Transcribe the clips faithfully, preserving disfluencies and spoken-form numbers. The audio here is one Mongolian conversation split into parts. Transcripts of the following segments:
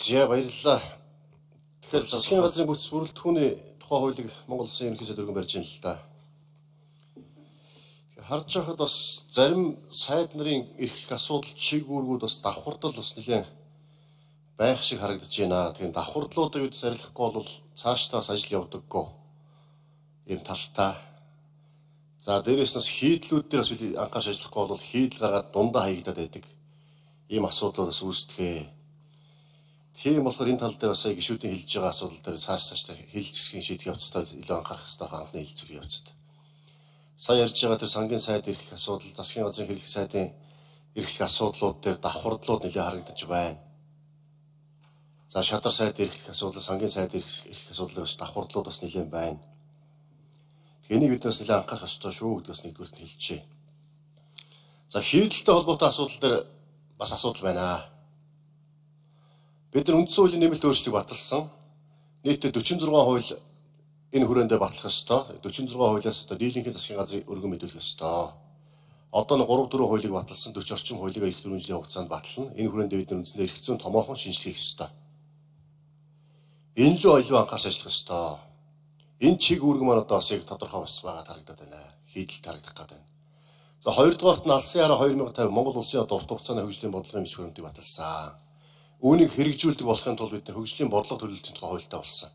За баярлалаа. Тэгэхээр засгийн газрын бүс бүрэлдэхүүний тухай хуулийг Монгол Улсын ерөнхий сайд өргөн барьж байна л да. Харж байхад бас зарим сайд нарын эрхлэх асуудал чиглэлүүд бас давхардал бас нэлээд байх шиг харагдаж байна. Тэгэхээр давхардлуудыг бид зарилахгүй бол цаашдаас ажил явдаггүй. Ийм талтай. За дээрээс нь хийдлүүд дээр бас анхаарч ажиллахгүй бол хийдэл гаргаад дундаа хаягдаад байдаг. Ийм асуудлууд бас үүсдэг. Тийм болохоор энэ тал дээр бас гишүүдийн хэлж байгаа асуудал дээр цааш цаашдаа хэлж гисхийн шийдэх явцдаа илүү анхаарах хэрэгтэй анхны хэлцүүрийн явцад. Сая ярьж байгаа тэр сангийн сайд эрхлэх асуудал, засгийн газрын хэрэглэх сайдын эрхлэх асуудлууд дээр давхардлууд нэлээд харагдаж байна. За шадар сайд эрхлэх асуудал, сангийн сайд эрхлэх асуудал бас давхардлууд бас нэлээд байна. Энийг бид бас нэлээд анхаарах ёстой шүү гэдгээс нэгдүгürt нь хэлчихье. За хийдэлтэй холбоотой асуудал дээр бас асуудал байна. Бид нар үндсэн хуулийн нэмэлт өөрчлөлтийг баталсан. Нийтдээ дөрвөн зургаан хууль энэ хүрээндээ батлах ёстой. дөрвөн зургаан хуулиас одоо дийлэнхийн засгийн газрыг өргөн мэдүүлэх ёстой. Одоо нэг гурав дөрвөн хуулийг баталсан, дөрвөн орчим хуулийг эх дөрвөн жилийн хугацаанд батлана. Энэ хүрээндээ бид нар үндсэндээ эрх зүйн томоохон шинжилгээ хийх ёстой. Энэ л илүү анхаарч ажиллах ёстой. Энэ чиг үүрэг маань одоо бас яг тодорхой бас байгаа харагдаад байна. Хийдэлд харагдах гэдэг байна. За хоёрдугаарт нь Алсын хараа хоёр мянга тавь Монгол Улсын одоо урт хугацааны хөгжлийн бодлогын бичиг баримтыг баталсан. Үүнийг хэрэгжүүлдэг болохын тулд бид хөгжлийн бодлого төлөвлөлтийн тухай хуультай болсон.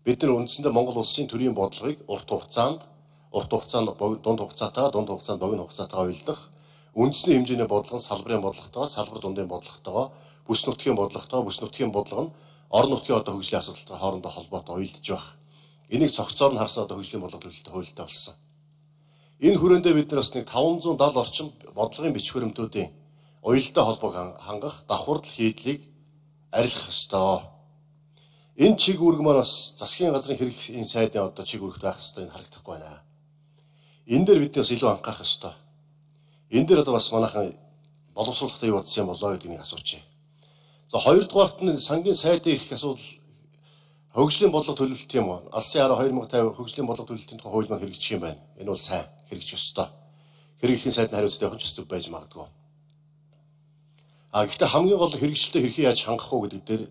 Бид нар үндсэндээ Монгол Улсын төрийн бодлогыг урт хугацаанд, урт хугацаанд дунд хугацаатаа, дунд хугацаанд богино хугацаатаа уйлдах, үндэсний хэмжээний бодлого нь салбарын бодлоготойгоо, салбар дундын бодлоготойгоо, бүс нутгийн бодлоготойгоо, бүс нутгийн бодлого нь орон нутгийн одоо хөгжлийн асуудалтай хоорондоо холбоотой уйлдж байх. Энийг цогцоор нь харсан одоо хөгжлийн бодлого төлөвлөлтөй хуультай болсон. Энэ хүрээндээ бид нар бас нэг таван зуун даал орчим бодлогын бичиг баримтуудын уялдаа холбоог хангах давхардл хийдлийг арилгах ёстой. Энэ чиг үүрэг маань бас засгийн газрын хэрэглэхийн сайдын одоо чиг үүрэгт байх ёстой энэ харагдахгүй байна. Энэ дээр бид бас илүү анхаарах ёстой. Энэ дээр одоо бас манайхан боловсруулалтаа юу бодсон юм болоо гэдгийг асуучих. За хоёрдугаарт нь сангийн сайдын эрх асуудал хөгжлийн бодлого төлөвлөлт юм уу? Алсын хараа хоёр мянга тавь хөгжлийн бодлого төлөвлөлтийн тухай хууль маань хэрэгжих юм байна. Энэ бол сайн хэрэгжих ёстой. Хэрэглэхийн сайдын хариуцлага явах ч зүг байж магадгүй. А гэхдээ хамгийн гол хэрэгжилтэд хэрхэн яаж хангах уу гэдэг дээр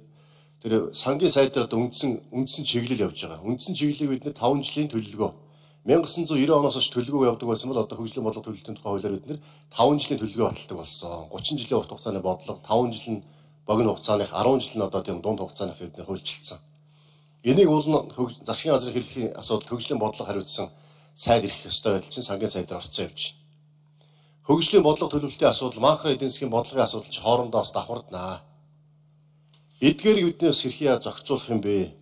тэр сангийн сайд дээр одоо үндсэн үндсэн чиглэл явж байгаа. Үндсэн чиглэлийг бид нэр таван жилийн төлөвлөгөө 천구 девяносто оноос хойш төлөвлөгөө явуулдаг байсан бол одоо хөгжлийн бодлого төлөвлөлтийн тухай хуулиар бид нэр таван жилийн төлөвлөгөө баталдаг болсон. гучин жилийн урт хугацааны бодлого, таван жил нь богино хугацааных, арван жил нь одоо тийм дунд хугацааных бид нэр хуульчилсан. Энийг бол засгийн газрын хэрэглэхийн асуудал хөгжлийн бодлого хариуцсан сайд ирэх ёстой байдал чинь сангийн сайдаар орцсон явж байна. Хөгжлийн бодлого төлөвлөлтийн асуудал, макро эдийн засгийн бодлогын асуудал ч хоорондоо бас давхарднаа. Эдгээрийг биднээс хэрхэн зохицуулах юм бэ?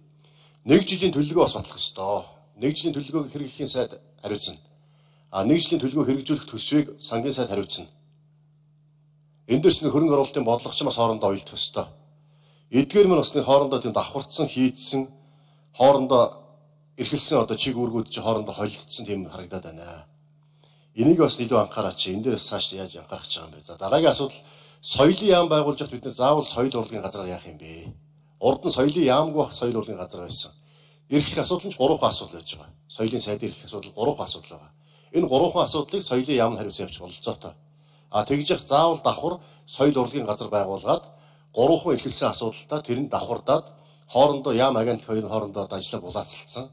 Нэг жилийн төлөвлөгөө бас батлах ёстой. Нэг жилийн төлөвлөгөөг хэрэглэхийн сайд хариуцна. А нэг жилийн төлөвлөгөө хэрэгжүүлэх төсвийг сангийн сайд хариуцна. Энд дээрс нэг хөрөнгө оруулалтын бодлого ч бас хоорондоо уялдах ёстой. Эдгээр мань бас нэг хоорондоо тийм давхардсан, хийдсэн, хоорондоо эрхэлсэн одоо чиг үүргүүд чи хоорондоо холилдсон тийм харагдаад байна. Энийг бас илүү анхаараач. Энэ дээрээс цааш яаж анхаарах гэж байгаа юм бэ? За дараагийн асуудал соёлын яам байгуулж хат бид нэ заавал соёл урлагийн газар яах юм бэ? Урд нь соёлын яамгүй бах соёл урлагийн газар байсан. Эрхлэх асуудал нь гурван асуудал байж байгаа. Соёлын сайдын эрхлэх асуудал гурван асуудал байгаа. Энэ гурван асуудлыг соёлын яам нь хариуцсан явчих бололцоотой. А тэгж явах заавал давхар соёл урлагийн газар байгуулгаад гурван эрхэлсэн асуудалтай тэрэнд давхардаад хоорондоо яам агентлаг хоёрын хоорондоо ажиллаа булаацалцсан.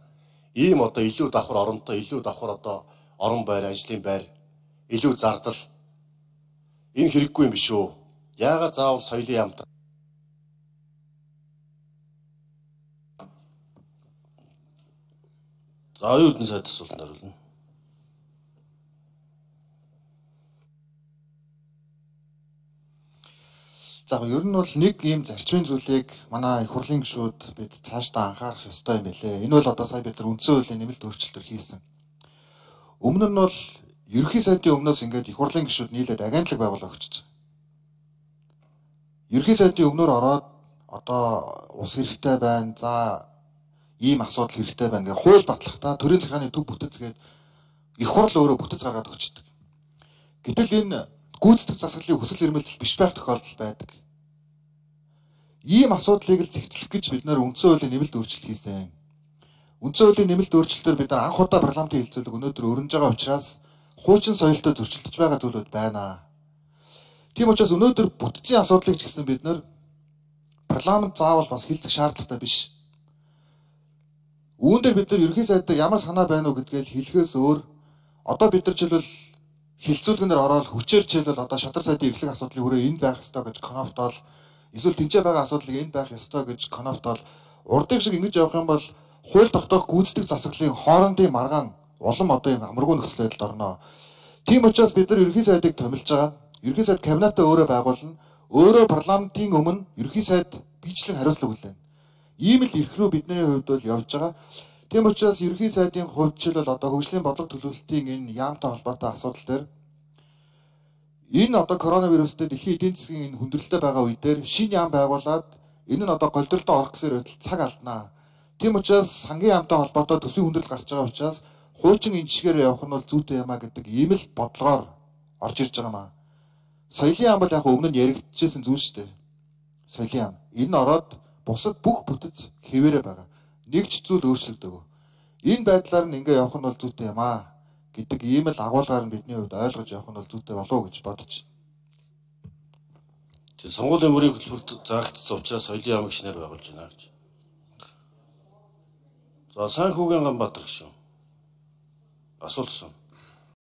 Ийм одоо илүү давхар оронтой, илүү давхар одоо орон байр, ажлын байр, илүү зардал энэ хэрэггүй юм биш үү? Яагаад заавал соёлын яамтай? За оюутны сайд асуултанд хариулна. За ер нь бол нэг ийм зарчмын зүйлийг манай их хурлын гишүүд бид цаашдаа анхаарах ёстой юм билээ. Энэ бол одоо сая бид нар үндсэн хуулийн нэмэлт өөрчлөлтөөр хийсэн. Өмнө нь бол ерөнхий сайдын өмнөөс ингээд их хурлын гишүүд нийлээд агентлаг байгуулах гэж байна. Ерөнхий сайдын өмнөөр ороод одоо ус хэрэгтэй байна. За ийм асуудал хэрэгтэй байна гэх хууль батлахдаа төрийн захиргааны төв бүтэц гээд их хурл өөрөө бүтэц гаргаад өгчдөг. Гэтэл энэ гүйцэтгэх засаглалын хүсэл эрмэлзэл биш байх тохиолдол байдаг. Ийм асуудлыг л зэгцлэх гэж бид нар үндсэн хуулийн нэмэлт өөрчлөлт хийсэн. Үндсэн хуулийн нэмэлт өөрчлөлтөөр бид нар анх удаа парламентын хэлцүүлэг өнөөдөр өрнөж байгаа учраас хуучин соёлтой зөрчилдөж байгаа зүйлүүд байна. Тийм учраас өнөөдөр бүтцийн асуудлыг ч гэсэн бид нар парламент заавал бас хилцэх шаардлагатай биш. Үүн дээр бид нар ерөнхий сайд дээр ямар санаа байна уу гэдгээл хэлэхээс өөр одоо бид нар жишээлбэл хилцүүлгэнээр ороод хүчээр жишээлбэл одоо шадар сайдын эрхлэх асуудлын хүрээ энд байх ёстой гэж коноптол эсвэл тэнцээ байгаа асуудлыг энд байх ёстой гэж коноптол урдыг шиг ингэж явах юм бол хууль тогтоох гүйцэтгэх засаглалын хоорондын маргаан улам одоо юм амаргүй нөхцөл байдалд орно. Тийм учраас бид нар ерөнхий сайдыг томилж байгаа. Ерөнхий сайд кабинетаа өөрөө байгуулна. Өөрөө парламентын өмнө ерөнхий сайд бичлэг хариуцлага хүлээнэ. Ийм л эрх рүү бидний хувьд бол явж байгаа. Тийм учраас ерөнхий сайдын хувьд жишээлбэл одоо хөгжлийн бодлого төлөвлөлтийн энэ яамтай холбоотой асуудал дээр энэ одоо коронавирустэй дэлхийн эдийн засгийн энэ хүндрэлтэй байгаа үе дээр шинэ яам байгуулад энэ нь одоо голдролтой орох гэсэн байтал цаг алднаа. Тийм учраас сангийн яамтай холбоотой төсвийн хүндрэл гарч байгаа учраас хуучин энэ жишгээр явах нь бол зүйтэй юм а гэдэг ийм л бодлогоор орж ирж байгаа маа. Соёлын яам бол яг өмнө нь яригдчихсэн зүйл шүү дээ. Соёлын яам. Энэ ороод бусад бүх бүтэц хэвээрээ байгаа. Нэг ч зүйл өөрчлөгдөөгүй. Энэ байдлаар нь ингээ явах нь бол зүйтэй юм аа гэдэг ийм л агуулгаар нь бидний хувьд ойлгож явах нь бол зүйтэй болов уу гэж бодож байна. Тэгээ сонгуулийн мөрийн хөтөлбөрт заагдсан учраас соёлын яамыг шинээр байгуулж байна гэж. За Санхүүгийн Ганбаатар гişүн. Асуулт сан.